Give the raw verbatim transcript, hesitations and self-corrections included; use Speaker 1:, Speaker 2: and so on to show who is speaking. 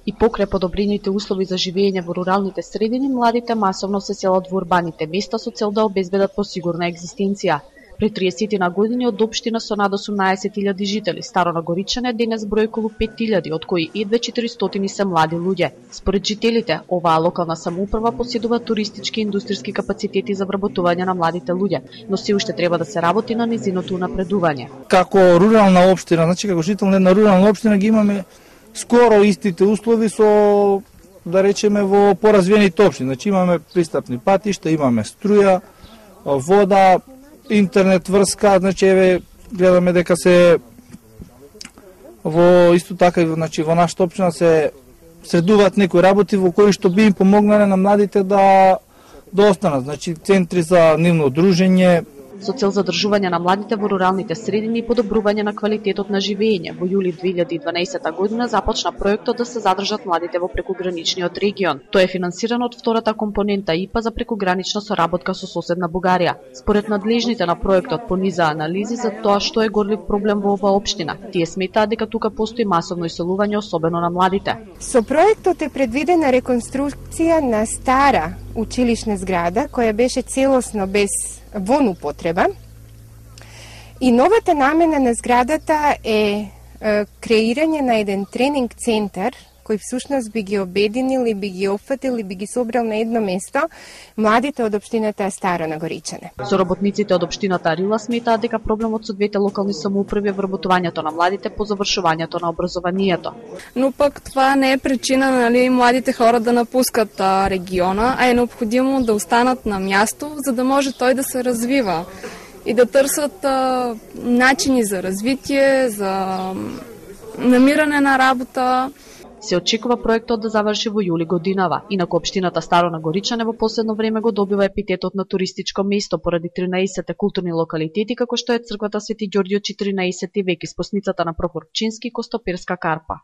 Speaker 1: И покрај подобрените услови за живење во руралните средини, младите масовно се селат во урбаните места со цел да обезбедат посигурна екзистенција. Пред триесет на години од општина со над осумнаесет илјади жители, Старо Нагоричане денес брои околу пет илјади, од кои едве четиристотини се млади луѓе. Според жителите, оваа локална самоуправа поседува туристички и индустријски капацитети за вработување на младите луѓе, но се уште треба да се работи на незиното унапредување.
Speaker 2: Како рурална општина, значи како жител на една рурална општина ги имаме скоро истите услови со, да речеме, во поразвиените општини. Значи имаме пристапни патишта, имаме струја, вода, интернет врска, значи еве гледаме дека се во исто така значи во нашата општина се средуваат некои работи во кои што би им помогнале на младите да да останат, значи центри за нивно дружење
Speaker 1: со цел задржување на младите во руралните средини и подобрување на квалитетот на живење. Во јули две илјади и дванаесета година започна проектот да се задржат младите во прекуграничниот регион. Тој е финансиран од втората компонента ИПА за прекугранична соработка со соседна Бугарија. Според надлежните на проектот по низа анализи за тоа што е горлив проблем во оваа општина, тие сметаат дека тука постои масовно иселување, особено на младите.
Speaker 3: Со проектот е предвидена реконструкција на стара училишна зграда која беше целосно без вон употреба и новата намена на зградата е, е креирање на еден тренинг центар кој всушност би ги обединил и би ги опфатил и би ги собрал на едно место младите од општината Старо Нагоричане.
Speaker 1: Соработниците од општината Рила сметаат дека проблемот со двете локални самоуправи е вработувањето на младите по завршувањето на образованието.
Speaker 4: Но пак това не е причина, нали, младите хора да напускат а, региона, а е необходимо да останат на място, за да може той да се развива и да търсят а, начини за развитие, за намиране на работа.
Speaker 1: Се очекува проектот да заврши во јули годинава. Инаку општината Старо Нагоричане во последно време го добива епитетот на туристичко место поради тринаесет културни локалитети, како што е црквата Свети Ѓорѓе од четиринаесети век и спосницата на Прохор Пчински и Костоперска карпа.